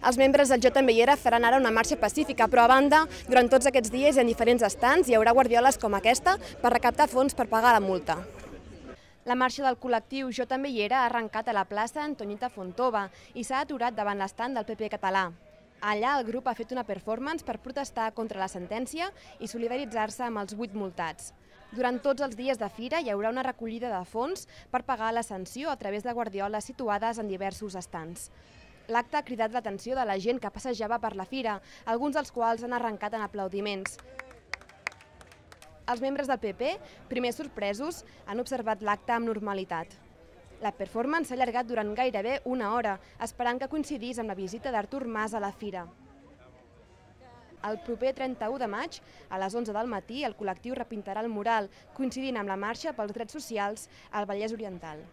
Els membres del Jo també hi era faran ara una marxa pacífica, però a banda, durant tots aquests dies i en diferents estants hi haurà guardioles com aquesta per recaptar fons per pagar la multa. La marxa del col·lectiu Jo també hi era ha arrencat a la plaça Antonita Fontova i s'ha aturat davant l'estand del PP català. Allà el grup ha fet una performance per protestar contra la sentència i solidaritzar-se amb els 8 multats. Durant tots els dies de fira hi haurà una recollida de fons per pagar la sanció a través de guardioles situades en diversos estants. L'acte ha cridat l'atenció de la gent que passejava per la fira, alguns dels quals han arrencat en aplaudiments. Els membres del PP, primer sorpresos, han observat l'acte amb normalitat. La performance s'ha allargat durant gairebé una hora, esperant que coincidís amb la visita d'Artur Mas a la fira. El proper 31 de maig, a les 11 del matí, el col·lectiu repintarà el mural, coincidint amb la marxa pels drets socials al Vallès Oriental.